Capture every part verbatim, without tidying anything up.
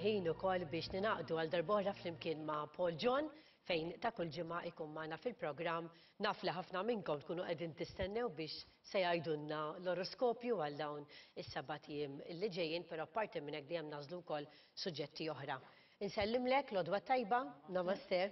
il-ħin ukoll biex ningħaqdu għal darb'oħra flimkien ma' Paul John, fejn ta' kull ġimgħa ikun magħna fil-programm. Naf li ħafna minnkom tkunu qegħdin tistennew biex se jgħidulna l-oroskopju għal dawn is-sebat ijiem li ġejjin, però apparti minn hekk dejjem nagħżlu wkoll suġġetti oħra. Insellimlek, l-għodwa t-tajba, namaste.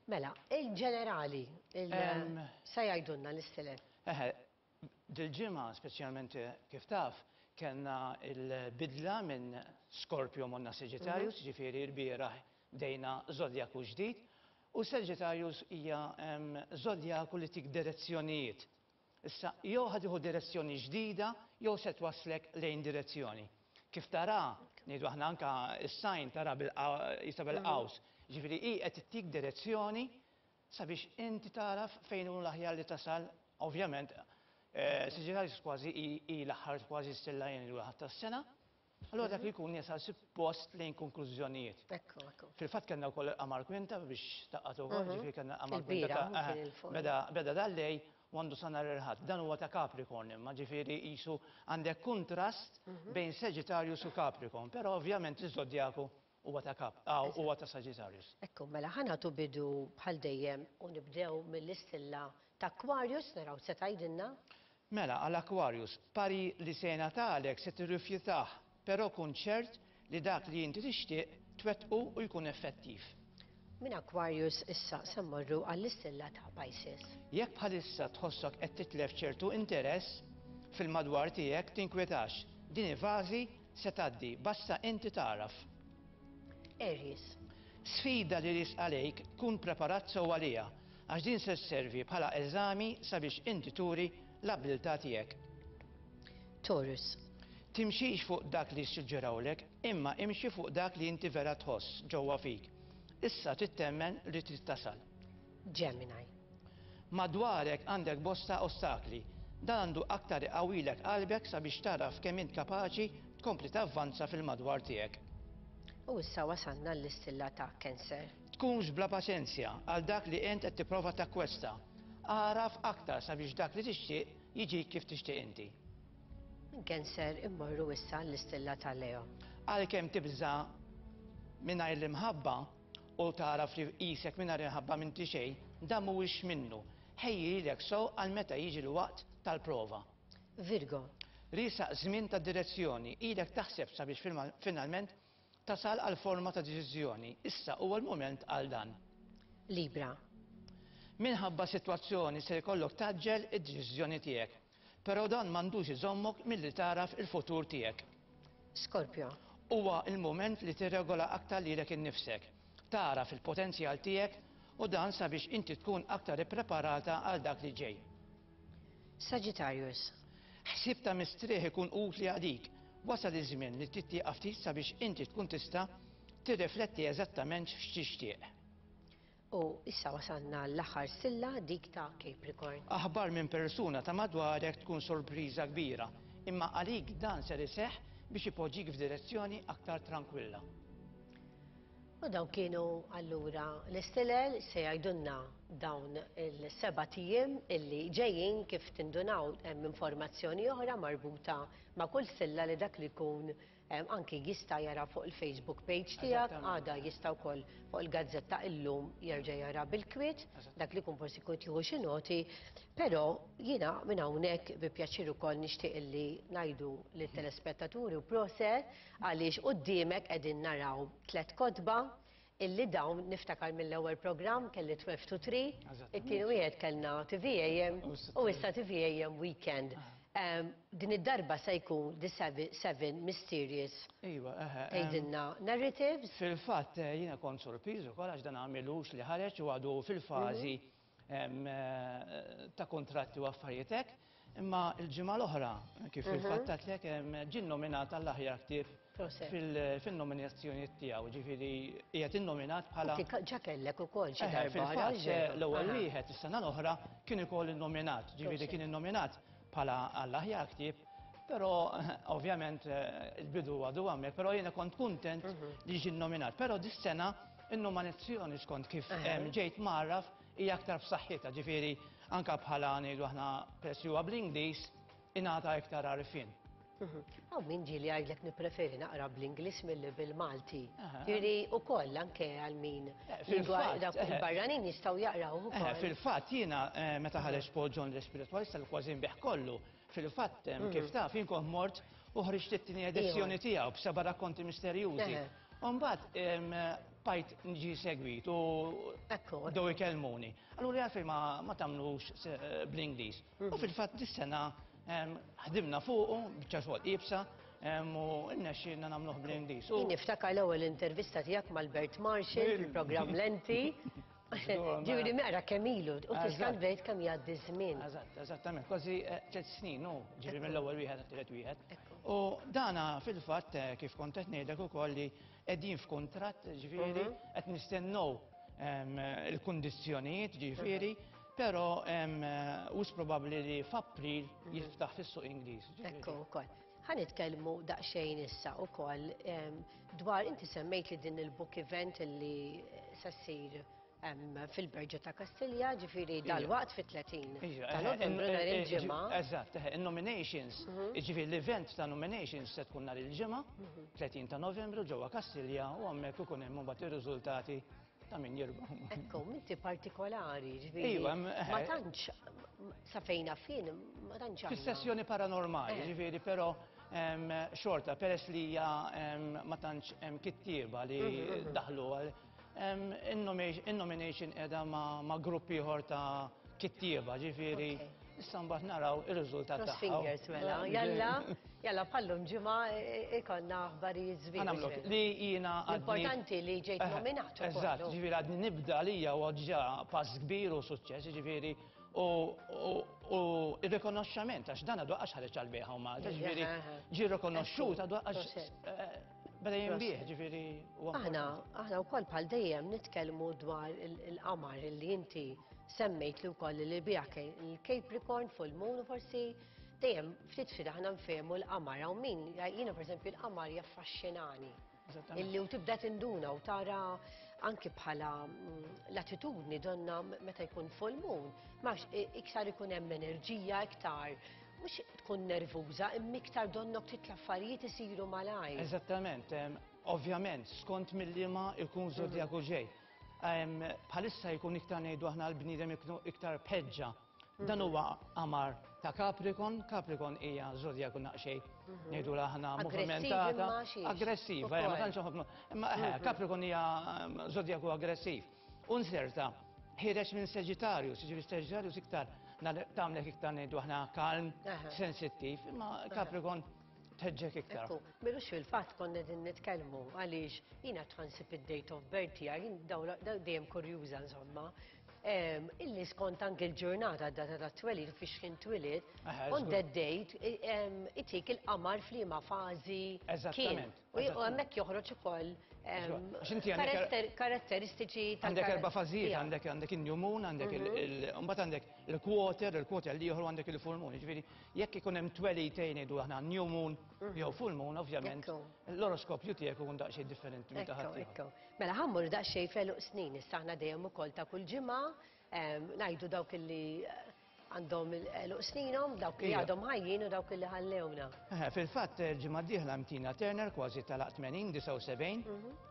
Mela, il-ġenerali, il Em, se jgħidulna l-istilel. Eħe, dil-ġimgħa speċjalment, kif taf, kellna il-bidla minn Scorpio morna Sagittarius, ġifieri l-bieraħ bdejna zodjaku ġdid, u Sagittarius hija em, zodjaku li tik direzzjonijiet. Issa, jew ħa tieħu direzzjoni ġdida, jew se twaslek lejn direzzjoni. Kif tara, ngħidu aħna anka is-sign tara bil- bil-qaws, ġifieri hi qed ittik direzzjoni sabiex inti taraf fejn hu l-aħjar li tasal. Ovvjament, eh, Sagittarius kważi hi hi l-aħħar kważi stella jien l tas-sena, allura dak li jkun jasal suppost lejn konklużjonijiet. Ekku, ekku. Fil-fatt kellna wkoll il-qamar kwinta biex taqqat ukoll, ġifieri kellna qamar kwinta Il-bieraħ, ta' kien il-fuq. beda beda dal-lejl u għandu sa nhar il-Ħadd. Dan huwa ta' Capricorn imma, ġifieri qisu għandek kontrast bejn Sagittarius u Capricorn, però ovvjament iż-żodjaku huwa ta' Cap, ah, huwa ta' Sagittarius. Ekku, mela ħa nagħtu bidu bħal dejjem u nibdew mill-istilla ta' Aquarius, naraw se tgħidilna. Mela, għal Aquarius, parir li se jingħatalek se tirrifjutah, però kun ċert li dak li inti tixtieq twettqu u jkun effettiv. Minn Aquarius issa se mmorru għall-istilla ta' Pisces. Jekk bħalissa tħossok qed titlef ċertu interess fil-madwar tiegħek, tinkwetax. Din il-fażi se tgħaddi, basta inti taraf. Aries. Sfida li riesqa għalejk, kun preparat sew għaliha, għax din se sservi bħala eżami sabiex inti turi l-abilità tiegħek. Taurus. Timxix fuq dak li suġġerawlek, imma imxi fuq dak li inti vera tħoss ġewwa fik. Issa trid temmen li trid tasal. Gemini. Madwarek għandek bosta ostakli. Dan għandu aktar iqawwilek qalbek sabiex taraf kemm int kapaċi tkompli tavvanza fil-madwar tiegħek. U issa wasalna l-istilla ta' Cancer. Tkunx bla paċenzja għal dak li int qed tipprova takkwesta. Agħraf aktar sabiex dak li tixtieq jiġi kif tixtieq inti. Minn Cancer immorru issa l-istilla ta' Leo. Għalkemm tibża mingħajr l-imħabba u taraf li qisek mingħajr imħabba m'inti xejn, dan mhuwiex minnu. Ħejji lilek sew għal meta jiġi l-waqt tal-prova. Virgo. Riesaq żmien ta' direzzjoni, ilek taħseb sabiex filma- finalment tasal għal forma ta' deċiżjoni. Issa huwa l-moment għal dan. Libra. Minħabba sitwazzjoni se jkollok tgħaġġel id-deċiżjoni tiegħek. Però dan m'għandux iżommok milli taraf il-futur tiegħek. Scorpio. Huwa il-moment li tirregola aktar lilek innifsek. Taraf il-potenzjal tiegħek u dan sabiex inti tkun aktar ippreparata għal dak li ġej. Sagittarius. Ħsieb ta' mistrieħ ikun utli għalik. Wasal iż-żmien li tieqaf ftit sabiex inti tkun tista' tirrifletti eżattament x'tixtieq. U issa wasalna l-aħħar stilla, dik ta' Capricorn. Aħbar minn persuna ta' madwarek tkun sorpriża kbira, imma għalik dan ser iseħħ biex ipoġġik f'direzzjoni aktar tranquilla. U dawn kienu allura l-istilel se jgħidulna dawn il-sebat ijiem illi ġejjin. Kif tindunaw, hemm informazzjoni oħra marbuta ma' kull stilla li dak li jkun em, anki jista' jara fuq il-Facebook page tiegħek, Eżattament. għada jista' wkoll fuq il-gazzetta Illum jerġa' jara bil-kwiet, dak li jkun forsi jkun jieħu xi noti, però jiena minn hawnhekk bi pjaċir ukoll nixtieq illi ngħidu lit-telespettaturi u prosit għaliex quddiemek qegħdin naraw tliet kotba illi dawn niftakar mill-ewwel programm kelli twelve to three, Eżattament. it-tieni wieħed kellna T V A M U u issa T V A M Weekend. Em, Din id-darba se jkun The Seven, seven Mysterious Iva, eħe. em, tgħidilna narratives. Fil-fatt, eh, jiena kont sorpriż ukoll għax dan għamilux li ħareġ u għadu fil-fażi em, eh, ta' kontratti u affarijiet hekk, imma il-ġimgħa l-oħra, kif fil-fatt għedtlek, em, ġie nominat għall-aħjar ktieb Prosit. fil- fil-nominazzjoni tiegħu, ġifieri qiegħed innominat bħala Inti ġa kellek ukoll xi Eħe, darba. fil-fatt, raġel. l-ewwel Aha. wieħed is-sena l-oħra kien ukoll innominat, ġifieri Prosit. kien innominat bħala għall-aħjar ktieb, però ovvjament eh, il-bidu għadu għamek, però jiena kont kuntent li ġie nominat. Però dis-sena in-nominazzjoni, skont kif Aha. em, ġejt mgħarraf, hija aktar b'saħħitha, ġifieri anka bħala ngħidu aħna peress li huwa bl-Ingliż ingħata iktar għarfien. Hawn min ġieli jgħidlek nippreferi naqra bl-Ingliż milli bil-Malti. Jiġifieri wkoll anke għal min dawk il-barranin jistgħu jaqraw ukoll. Fil-fatt jiena meta ħareġ Paul John l-Spiritualista li kważi nbigħ kollu, fil-fatt kif taf jien kont mort u ħriġt it-tieni edizzjoni tiegħu b'seba' rakkonti misterjużi. U mbagħad bqajt niġi segwit u bdew ikellmuni. Allura għalfejn ma tagħmlux bl-Ingliż. U fil-fatt dis-sena ħdimna fuqu, biċċa xogħol iebsa, u rnexxielna nagħmluh bl-Ingliż. Jien niftakar l-ewwel intervista tiegħek mal-Bert Marshall fil-programm Lenti. Ġifieri mera kemm ilu, u tista' tgħid kemm jgħaddi żmien. Eżatt, eżattament, kważi tliet snin, u ġifieri mill-ewwel wieħed għat-tielet wieħed. U dana fil-fatt kif kont qed ngħidlek ukoll li qegħdin f'kuntratt, ġifieri qed nistennew il-kundizzjonijiet, ġifieri, però wisq probabbli li f'April jiftaħ fis-suq Ingliż. Ekku wkoll. Ħa nitkellmu daqsxejn issa wkoll dwar inti semmejt li din il-book event li se ssir fil-Berġa ta' Kastilja, ġifieri dalwaqt fit-tletin ta' Novembru nhar il-Ġimgħa. Eżatt, il-nominations, ġifieri l-event ta' nominations se tkun nhar il-Ġimgħa, tletin ta' Novembru ġewwa Kastilja, u hemmhekk ikun hemm mbagħad ir-riżultati ta' min jirbaħ. Ekku, inti partikolari, ġifieri. Ma tantx sa fejna fin, ma tantx. Fis-sessjoni paranormali, ġifieri, però xorta peress li hija ma tantx hemm kittieba li daħlu għal in-nomination qiegħda ma' grupp ieħor ta' kittieba, ġifieri issa mbagħad naraw ir-riżultat tagħha. Fingers mela, jalla, jalla bħallum ġimgħa ikollna aħbarijiet sbieħ. Li jiena Importanti li ġejt nominat. Eżatt, ġifieri għadni nibda għalija u ġa pass kbir u suċċess, ġifieri u ir-rikonoxxament għax dan għadu għax ħareġ għall-bejħa u Malta, ġifieri ġie rikonoxxut għadu għax beda jinbigħ, ġifieri. Aħna aħna wkoll bħal dejjem nitkellmu dwar il-qamar li inti semmejt li wkoll li biha il-Capricorn full moon u forsi dejjem ftit ftit aħna nfehmu l-qamar hawn min jiena pereżempju l-qamar jaffaxxinani. Illi u tibda tinduna u tara anki bħala l-attitudni donna meta jkun full moon, max iktar ikun hemm enerġija iktar mhux tkun nervuża, imma iktar donnok titla' affarijiet isiru malajr. Eżattament, ovvjament skont mill-liema ikun żodjaku ġej. Bħalissa jkun iktar ngħidu aħna l-bniedem iktar bħeġġa. Dan huwa qamar ta' Capricorn, Capricorn hija żodjaku naqxej ngħidu aħna movimentata, aggressiva, ma tantx ħafna. Imma Capricorn hija żodjaku aggressiv. U nserta ħireġ minn Sagittarius, jiġifieri Sagittarius iktar tagħmlek iktar ngħidu aħna kalm, sensittiv, imma Capricorn tħeġġek iktar. Ekku, milux fil-fatt konna din nitkellmu għaliex jiena tħansib id-date of birth tiegħi, jien dejjem kurjuża insomma. Illi skont anke l-ġurnata data ta' twelid fiex kien twilid, on that date itik il-qamar f'liema fażi kien. U hemmhekk joħroġ ukoll karatteristiċi tal Għandek erba' fażijiet, għandek għandek il-new moon, għandek il-mbagħad għandek il-quarter, il-quarter li ieħor għandek il-full moon. Jiġifieri jekk ikun hemm twelidtejn ngħidu aħna new moon jew full moon, ovvjament l-oroskopju tiegħek ikun daqsxejn differenti minn ta' ħadd. Mela ħa mmur daqsxejn f'għeluq snin, issa aħna dejjem ukoll ta' kull ġimgħa ngħidu dawk illi għandhom għeluq sninhom, dawk li għadhom ħajjin u dawk li ħallewna. Fil-fatt il-ġimgħa d-dieħla Tina Turner kważi talaq tmenin, disgħa u sebgħin,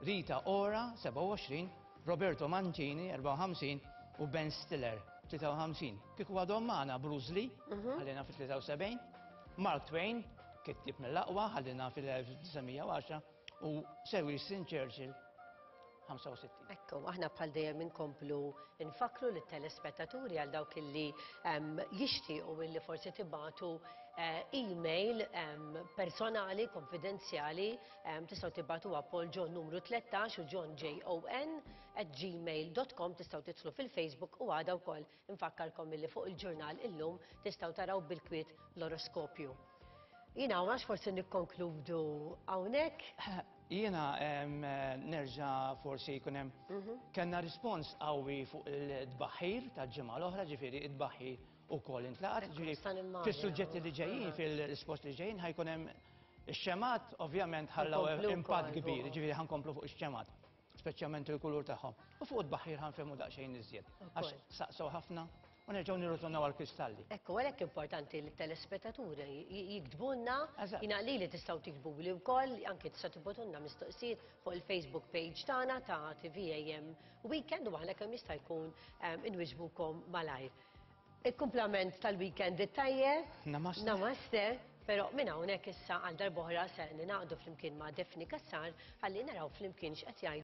Rita Ora sebgħa u għoxrin, Roberto Mancini erbgħa u ħamsin u Ben Stiller tlieta u ħamsin. Kieku għadhom magħna Bruce Lee ħallina fit-tlieta u sebgħin, Mark Twain kittieb mill-aqwa ħallina fil-elf disa' mija u għaxra u Sir Winston Churchill ħamsa u sittin. Ekku, aħna bħal dejjem inkomplu nfakru lit-telespettaturi għal dawk illi jixtiequ illi forsi tibatu email personali, konfidenzjali, tistgħu tibatuha Paul John numru tlettax u John J O N at gmail dot com, tistgħu tidħlu fil-Facebook u għada wkoll nfakkarkom illi fuq il-ġurnal illum tistgħu taraw bil-kwiet l-oroskopju. Jiena għax forsi nikkonkludu hawnhekk. Jiena nerġa' forsi jkun hemm kellna rispons qawwi fuq il-tbaħħir tal-ġimgħa l-oħra, ġifieri it-tbaħħir ukoll intlaqat, ġifieri fis-suġġetti li ġejjin, fil-risposti li ġejjin ħajkun hemm ix-xemat, ovvjament ħallaw impatt kbir, ġifieri ħankomplu fuq ix-xemat, speċjalment il-kulur tagħhom. U fuq it-tbaħħir ħanfehmu daqsxejn iżjed. Għax saqsew ħafna u nerġgħu nirritornaw għall-kristalli. Ekku, għalhekk importanti li t-telespettaturi jiktbulna, jiena li li tistgħu tiktbuli wkoll, anke tista' tibgħatulna mistoqsijiet fuq il-Facebook page tagħna ta' T V A M Weekend u aħna kemm jista' jkun inwiġbukom malajr. Il-kumplament tal-weekend it-tajjeb. Namaste. Namaste. Pero minn hawnhekk issa għal darb'oħra se ningħaqdu flimkien ma' Daphne Cassar ħalli naraw flimkien x'qed jgħidu.